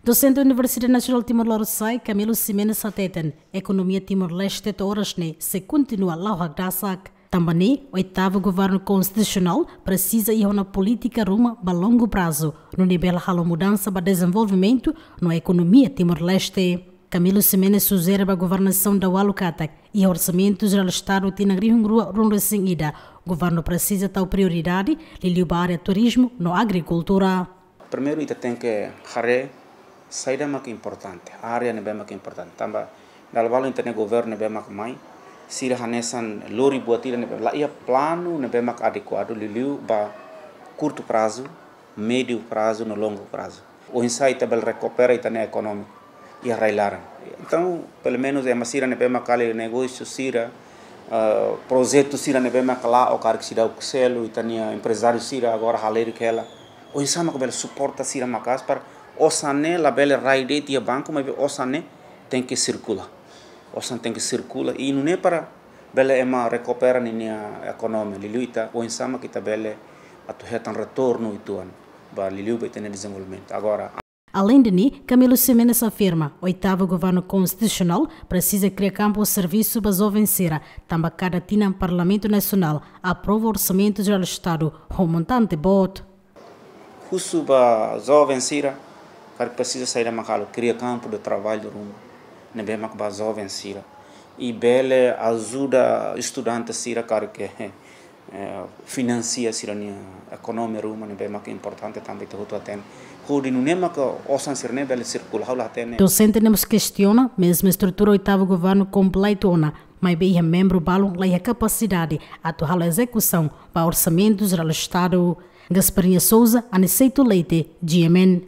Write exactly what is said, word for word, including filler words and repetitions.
Dosente Universidade Nasionál Timor-Leste, Camilo Ximenes hateten, ekonomia Timor-Leste to'o oras ne'e sei kontinua la'o hakdasak. Tanba ne'e, oitavu governu konstitusionál presiza iha ona polítika ruma ba longu prazu, nune'e bele halo mudansa ba dezenvolvimentu no ekonomia Timor-Leste. Camilo Ximenes sujere ba governasaun daualu katak, iha Orsamentu Jerál Estadu tinan rihun rua ruanulu-resin-ida, governu presiza tau prioridade liuliu ba área turizmu no agrikultura. Primeiru, ita tenke haree saida mak importante, área ne'ebé mak importante. Tanba dala balu ita-nia governu ne'ebé mak mai, sira hanesan lori buat ida ne'ebé la iha planu ne'ebé mak adekuadu liuliu ba kurtu prazu, médiu prazu no longu prazu. Oinsá ita bele rekupera ita-nia ekonomia iha rai-laran. Entaun, pelumenus ema sira ne'ebé mak halo negósiu sira, eh, projetu sira ne'ebé mak la'o karik seidauk selu, ita-nia emprezáriu sira agora halerik hela. Oinsá mak bele suporta sira maka'as para osan ne'e labele rai de'it iha banku, maibé osan ne'e tenke sirkula. Osan tenke sirkula. I nune'e para bele ema rekupera ninia ekonomia. Liuliu ita, oinsá mak ita bele atu hetan retornu uitoan ba liuliu ba ita-nia dezenvolvimentu. Agora, aleinde ne'e, Camilo Ximenes afirma, oitavu governu konstitusionál presiza kria kampu servisu ba joven sira, tanba kada tinan Parlamentu Nasionál aprova Orsamentu Jerál Estadu ho montante boot. Husu ba joven sira, karik presiza saida mak halo, kria kampu de traballu ruma ne'ebé mak ba joven sira. I bele ajuda estudante sira karik, eh, finansia sira-nia ekonomia ruma ne'ebé mak importante tanba ita hotu hatene. Hodi nune'e mak osan sira-ne'e bele sirkula, ha'u la hatene. Dosente ne'e mós kestiona, mezmu estrutura oitavu governu kompletu ona, maibé iha membru balun la iha kapasidade atu halo ezekusaun ba Orsamentu Jerál Estadu. Gasparinha Souza, Aniceto Leite, G M N.